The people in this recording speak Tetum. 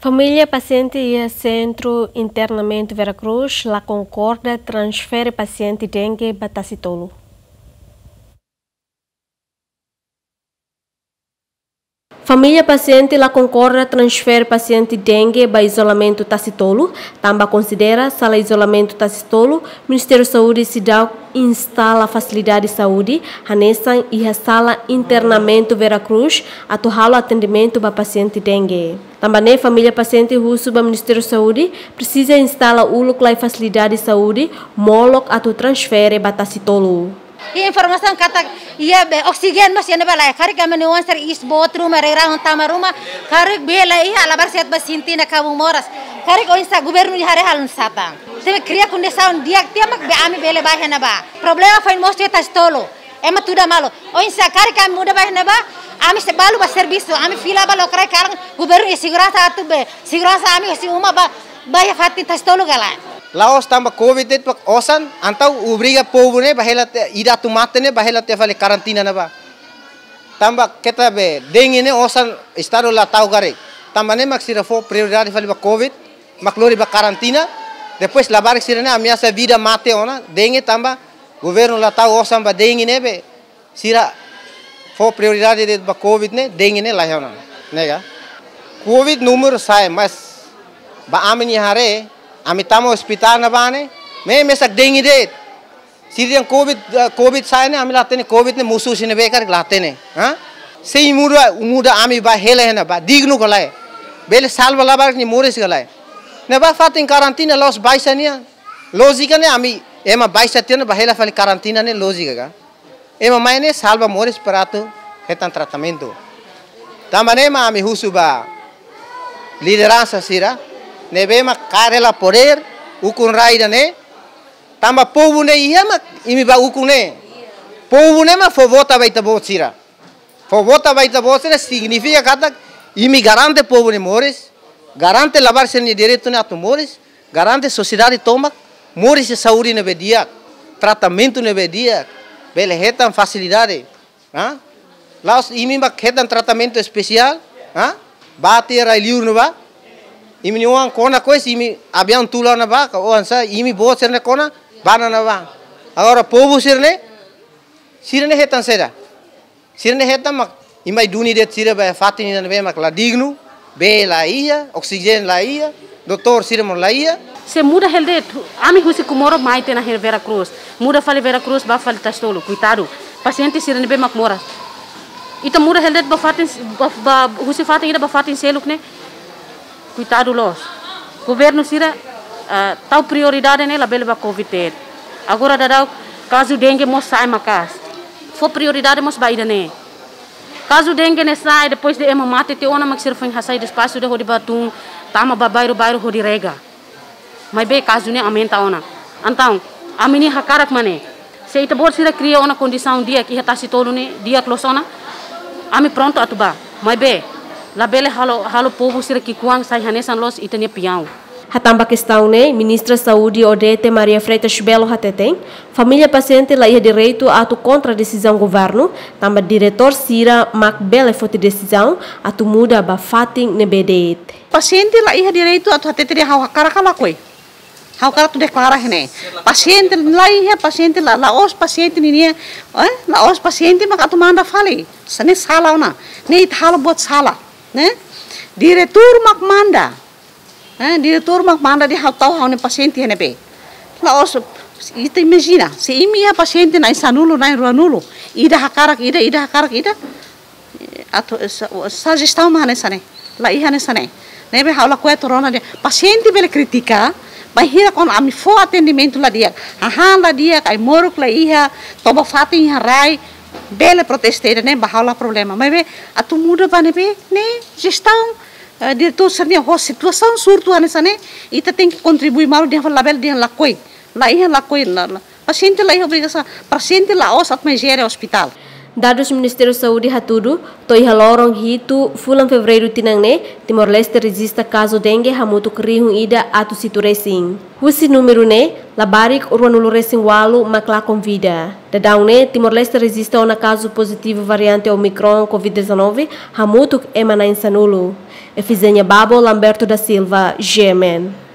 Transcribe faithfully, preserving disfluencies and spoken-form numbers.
Família pasiente iha Sentru Internamentu Vera Cruz la konkorda transfere pasiente dengue ba Tasitolu. Família pasiente la konkorda transfere pasiente dengue ba izolamentu Tasitolu, tanba konsidera sala izolamentu Tasitolu, Ministériu Saúde seidauk instala fasilidade saúde, hanesan iha sala internamentu Vera Cruz, atu halo atendimentu ba pasiente dengue. Tanba ne'e família pasiente husu ba Ministériu Saúde, presiza instala uluk lai fasilidade saúde, molok atu transfere ba Tasitolu. Iha informasaun katak iha be oksijéniu mós iha ne'ebá lae. Karik ami-nia oan sira iis boot ruma, rerahun tama ruma, karik bee la iha, labarik sira bá sente ona kabun moras. Karik oinsá governu iha haree halo nusá tan. Tenke kria kondisaun di'ak tiha mak be ami bele bá iha ne'ebá. Problema foin mós iha Tasitolu. Ema tuda malu. Oinsá karik ami muda bá iha ne'ebá, ami sei balu ba servisu, ami fila ba lokraik karik governu iha seguransa atu be. Seguransa ami husi uma bá, bá iha fatin Tasitolu ka lae. La'ós tanba covid de'it mak osan, entaun obriga povu ne'e bá hela tiha, ida atu mate ne'e bá hela tiha fali karantina ne'ebá. Tanba keta be dengue ne'e osan estadu la ta'uk karik. Tanba ne'e mak sira fó prioridade fali ba covid, mak lori ba karantina. Depois labarik sira ne'e ameasa vida mate ona dengue tanba governu la tau osan ba dengue ne'ebé sira fó prioridade de'it ba covid ne'e, dengue ne'e la iha ona. Ne'e ka? Covid númeru sa'e, mas ba ami-nia haree, ami tama ospitál ne'ebá ne'e, mesak dengue de'it. Sira dehan covid, eh, covid sa'e ne'e, ami la hatene covid ne'e mosu husi ne'ebé karik la hatene. Ha? Sei muda, muda ami bá hela iha ne'ebá, dignu ka lae. Bele salva labarik nia moris ka lae. Ne'ebá fatin karantina la'ós baixa nian. Lójika ne'e ami, ema baixa tiha ona bá hela fali karantina ne'e lójika ka. Ema mai ne'e salva moris para atu hetan tratamentu. Tanba ne'e mak ami husu ba lideransa sira ne'ebé mak kaer hela podér, ukun rai ida-ne'e. Tanba povu ne'e iha mak imi bá ukun ne'e. Povu ne'e mak fó vota ba ita-boot sira. Fó vota ba ita-boot sira signifika katak imi garante povu nia moris, garante labarik sira-nia direitu ne'e atu moris, garante sosiedade tomak moris iha saúde ne'ebé di'ak, tratamentu ne'ebé di'ak, bele hetan fasilidade. Ha? La'ós imi mak hetan tratamentu espesiál, ha? Bá tiha rai-liur ne'ebá. Imi-nia oan kona kois, imi aviaun tula ona bá, ka oinsá, imi-boot sira-ne'e kona, bá ona bá. Agora povu sira-ne'e, sira-ne'e hetan saida? Sira-ne'e hetan mak imi mai duni de'it sira ba fatin ida ne'ebé mak la dignu, bee la iha, oksijéniu la iha, doutór sira mós la iha. Se muda hela de'it, ami husi Comoro mai tiha ona iha Vera Cruz. Muda fali Vera Cruz, bá fali Tasitolu, koitadu. Pasiente sira ne'ebé mak moras. Ita muda hela de'it ba fatin, ba, ba, husi fatin ida ba fatin seluk ne'e. Koitadu loos. Governu sira, ah, tau prioridade ne'e labele ba covid de'it. Agora daudaun kazu dengue mós sa'e maka'as. Fó prioridade mós ba ida-ne'e. Kazu dengue ne'e sa'e, depois de ema mate tiha ona mak sira foin hasai despaxu ida hodi bá tun, tama ba bairru-bairru hodi rega. Maibé kazu ne'e aumenta ona. Entaun, ami-nia hakarak mak ne'e. Se ita-boot sira kria ona kondisaun di'ak iha Tasitolu ne'e, di'ak loos ona, ami prontu atu bá. Maibé labele halo, halo povu sira ki'ikoan sai hanesan loos ita-nia peaun. Hatán ba kestaun ne'e, Ministra Saúde Odete Maria Freitas Belo hateten, família pasiente la iha direitu atu kontra desizaun governu, tanba diretór sira mak bele foti desizaun atu muda ba fatin ne'ebé de'it. Pasiente la iha direitu atu hatete dehan ha'u hakarak ka lakohi. Ha'u hakarak atu deklara iha ne'e. Pasiente la iha, pasiente la, la'ós pasiente ninia, eh, la'ós pasiente mak atu manda fali. Hanesan ne'e sala ona. Ne'e ita halo buat sala, ne'e? Diretór mak manda. Eh, diretór mak manda dehan ha'u tau ha'u-nia pasiente iha ne'ebé. La'ós, ita imajina, se imi iha pasiente na'in sanulu, na'in ruanulu, ida hakarak ida, ida hakarak ida, atu, sa-, sa-, jestaun mak hanesan ne'e, la iha hanesan ne'e. Ne'ebé ha'u lakohi atu rona dehan, pasiente bele kritika, bainhira kuandu ami fó atendimentu la di'ak, hahán la di'ak, ai-moruk la iha, toba fatin iha rai, bele protesta ida-ne'e ba ha'u la problema. Maibé atu muda ba ne'ebé, ne'e jestaun, eh, diretór sira-nian ho situasaun surtu hanesan ne'e, ita tenke kontribui malu dehan fali labele dehan lakohi. La iha lakohi, la, la. Pasiente la iha obrigasaun, pasiente la'ós atu mai jere ospitál. Dadus Ministériu Saúde hatudu, to'o iha loron hitu fulan Fevereiru tinan ne'e, Timor-Leste rejista kazu dengue hamutuk rihun ida atus hitu resin. Husi númeru ne'e, Labarik ruanulu resin walu mak lakon vida. Dadaun ne'e Timor-Leste rejista ona kazu pozitivu variante Omicron COVID-19 hamutuk ema na'in sanulu. Efizenia Babo, Lamberto da Silva, G M N.